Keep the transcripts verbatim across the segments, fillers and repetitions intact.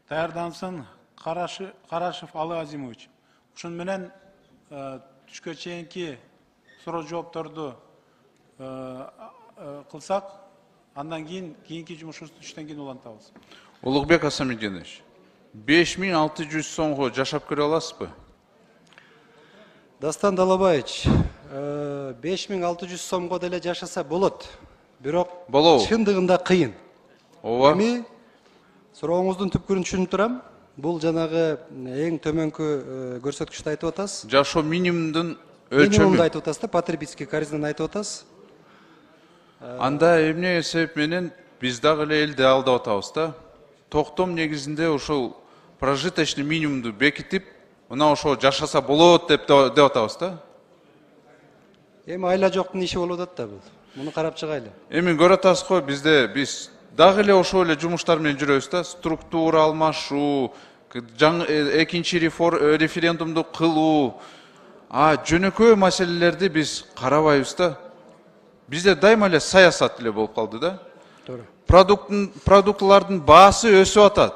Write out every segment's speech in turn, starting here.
даярдансын. Карашев Алы Азимович. Ушун менен түшкө чейинки суроо жоопторду кылсак, андан кийин кийинки жумушубузду түштөн кийин улантабыз. Улугбек Асамидинович, беш миң алты жүз сомго жашап көрө аласызбы? Дастан Далабаевич, беш миң алты жүз сомго деле жашаса болот. Бирок чындыгында кыйын. Ооба. Эми сурооңуздун түпкүрүн түшүнүп турам. Бул жанагы эң төмөнкү көрсөткүчтү айтып атасыз. Жашоо минимумдун өлчөмү. Минимумду айтып атасыз да, потребительский корзинаны айтып атасыз. Анда эмне себеп менен биз дагы эле элди алдап атабыз да. Токтом негизинде ошол прожиточный минимумду бекитип, мына ошо жашаса болот деп деп атабыз да. Эми айла жоктун иши болуп атат да бул. Муну карап чыгайлы. Эми көрүп атасыз го, бизде биз дагы эле ошол эле жумуштар менен жүрөбүз да. Структура алмашуу, экинчи референдумду кылуу, а жөнөкөй маселелерди биз карабайбыз да. Бизде дайыма эле саясат эле болуп калды да. Туура. Продукттун продуктлардын баасы өсүп атат.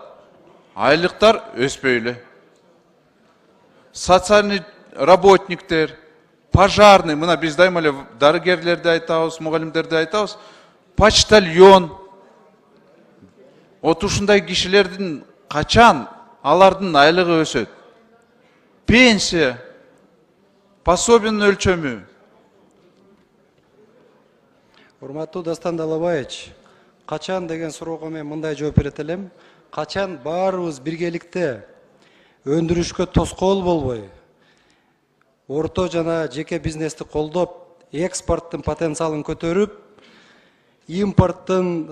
Айлыктар өспөй эле. Социальный работниктер, пожарный, мына биз дайыма эле дарыгерлерди айтабыз, мугалимдерди айтабыз, почтальон. Вот ушундай кишилердин качан алардын айлыгы өсөт? Пенсия, пособиянын өлчөмү. Урматтуу Дастан Далабаевич, качан деген суроого мен мындай жооп берет элем. Качан баарыбыз биргеликте өндүрүшкө тоскоол болбой, орто жана жеке бизнести колдоп, экспорттун потенциалын көтөрүп, импорттун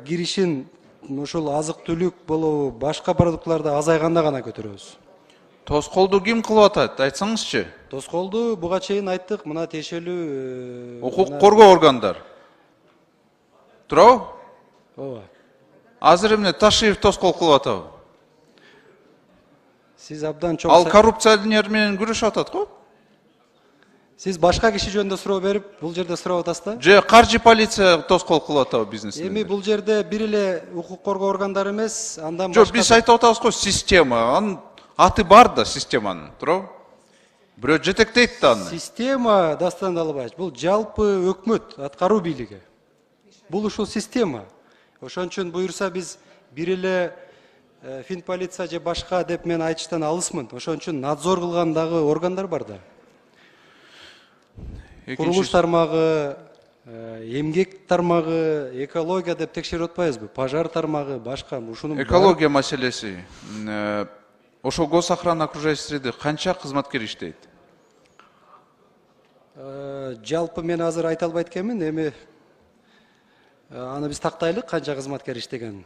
киришин ушул азык-түлүк болобу, башка продуктларды азайганда гана көтөрөбүз. Тоскоолду ким кылып атат? Айтсаңызчы. Тоскоолду буга чейин айттык, мына тиешелүү укук коргоо органдар. Туурабы? Ооба. Азыр эмне Ташиев тоскоол кылып атабы? Сиз абдан чоң. Ал коррупционер менен күрөшүп атат го? Сиз башка киши жөнүндө суроо берип, бул жерде сурап атасыз да? Же каржы полиция тоскоол кылып атабы бизнесмендер? Эми бул жерде бир эле укук коргоо органдары эмес, андан башка. Жок, биз айтып атабыз го, система. Анын аты бар да системанын, туурабы? Бирөө жетектейт да аны. Система, Дастан Далабаевич, бул жалпы өкмөт, аткаруу бийлиги. Бул ушул система. Ошон үчүн буюрса биз бир эле Финполиция же башка деп мен айтыштан алысмын. Ошон үчүн надзор кылган дагы органдар бар да. Курулуш тармагы, эмгек тармагы, экология деп текшерип атпайбызбы? Пожар тармагы, башка ушунун. Экология маселеси. Ошо госохрана окружающей среды канча кызматкер иштейт? Жалпы мен азыр айта албайт экенмин, эми аны биз тактайлык канча кызматкер иштегенин.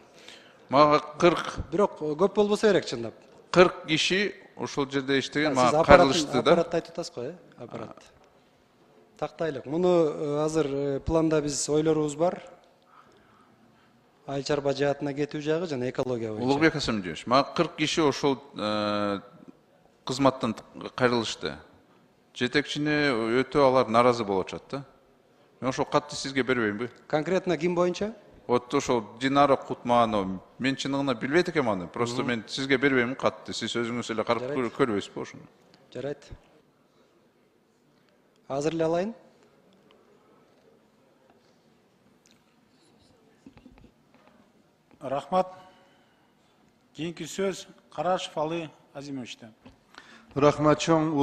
Мага кырк. Бирок көп болбосо керек чындап. кырк киши ошол жерде иштеген, мага кайрылышты да. Аппаратты айтып атасыз го, э? Аппарат. Тактайлык. Муну азыр планда биз ойлорубуз бар. Айыл чарба жаатына кетүү жагы жана экология боюнча. Улугбек Асамидинович, мага кырк киши ошол кызматтан кайрылышты. Жетекчине өтө алар наразы болуп атат да. Мен ошол катты сизге бербеймби? Конкретно ким боюнча? Вот ошол Динара Кутманова, мен чыныгына билбейт экенмин аны. Просто мен сизге бербейм катты. Сиз өзүңүз эле карап көрбөйсүзбү ошону? Жарайт. Азыр эле алайын. Рахмат. Кийинки сөз Карашев Алы Азимовичтен. Рахмат чоң.